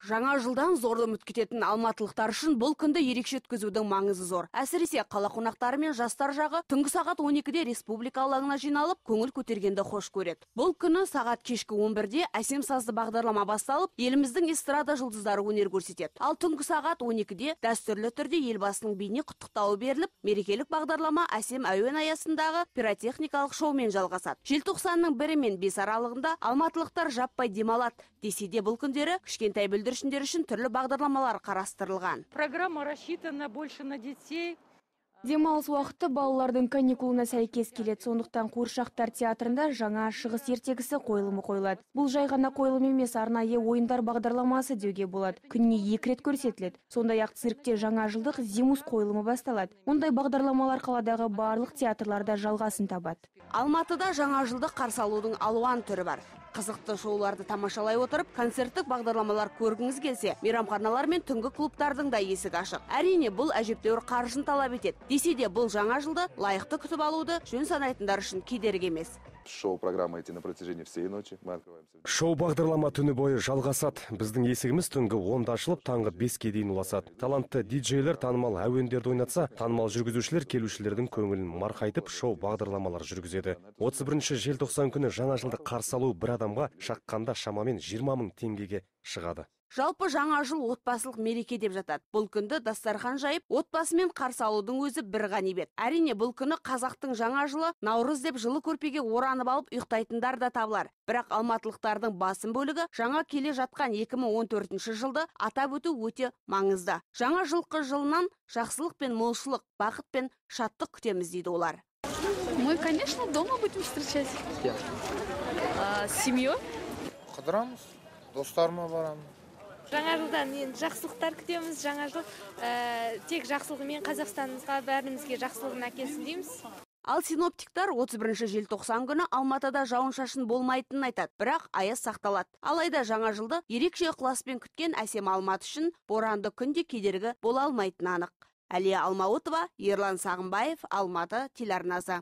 Жаңа жылдан зорды үміт кететін алматылықтар үшін бұл күнді ерекше өткізудің маңызы зор. Әсіресе қала қонақтары мен жастар жағы түнгі сағат 12-де республика алаңына жиналып, көңіл көтергенді хош көреді. Бұл күні сағат кешкі 11-де әсем сазды бағдарлама басталып, еліміздің эстрада жұлдыздары өнер көрсетеді. Ал түнгі сағат 12-де дәстүрлі түрде елбасының бейне құттықтауы беріліп, мерекелік бағдарлама әсем әуен аясындағы пиротехникалық шоумен жалғасады. Желтоқсанның 1 мен 5 аралығында алматылықтар жаппай демалады. Десе де бұл күндері кішкентай бүлдіршіндер үшін түрлі бағдарламалар қарастырылған. Программа рассчитана больше на детей. Демалыс уақыты балалардың каникулына сәйкес келеді. Сондықтан Қуыршақтар театрында жаңа шығыс ертегісі қойылымы қойылады. Бұл жай ғана қойылым емес, арнайы ойындар бағдарламасы деуге болады. Күніне 2 рет көрсетіледі. Сондай-ақ циркте жаңа жылдық Зимус қойылымы басталады. Ондай бағдарламалар қаладағы барлық театрларда жалғасын табады. Алматыда жаңа жылды қарсы алудың алуан түрі бар. Қызықты шоуларды тамашалай отырып, концерттік бағдарламалар көргіңіз келсе, мейрамханалар мен түнгі клубтардың да есігі ашық. Әрине, бұл әжептәуір қаржын талап етеді. Десе де бұл жаңа жылды лайықты күтіп алуды жөн санайтындар үшін кедергі емес. Шоу-программа идти на протяжении всей ночи. Шоу бағдарлама түні бойы жалғасады. Біздің есігіміз түнгі 10-да ашылып, таңғы 5-ке дейін ұласады. Талантты диджейлер танымал әуендерді ойнатса, танымал жүргізушілер келушілердің көңілін марқайтып, шоу бағдарламалар жүргізеді. 31 желтоқсан күні жаңа жылды қарсы алу бір адамға шаққанда шамамен 20 000 теңгеге шығады. Жалпы жаңа жыл отбасылық мереке деп жатады. Бұл күнді дастархан жайып, отбасымен қарсы алудың өзі бір ғанибет. Әрине, бұл күні қазақтың жаңа жылы Наурыз деп жылы көрпеге оранып алып ұйықтайтындар да табылар. Бірақ алматылықтардың басым бөлігі жаңа келе жатқан 2014 жылды атап өту өте маңызды. Жаңа жылқы жылынан жақсылық пен молшылық, бақыт пен шаттық күтеміз дейді олар. Мы, конечно, дома будем встречать. С семьей. Қыдырамыз, достарыма барамын. Жаңа жылдан жақсылықтар күтеміз. Жаңа жыл тек жақсылығымен Қазақстанымызға, бәрімізге жақсылығын әкелсін дейміз. Ал синоптиктар 31 желтоқсан күні Алматыда жауын-шашын болмайтынын айтады, бірақ аяз сақталады. Алайда жаңа жылды ерекше ықыласпен күткен әсем Алматы үшін боранды күнде кедергі бола алмайтыны анық. Әлия Алмауытова, Ерлан Сағынбаев, Алматы телеарнасы.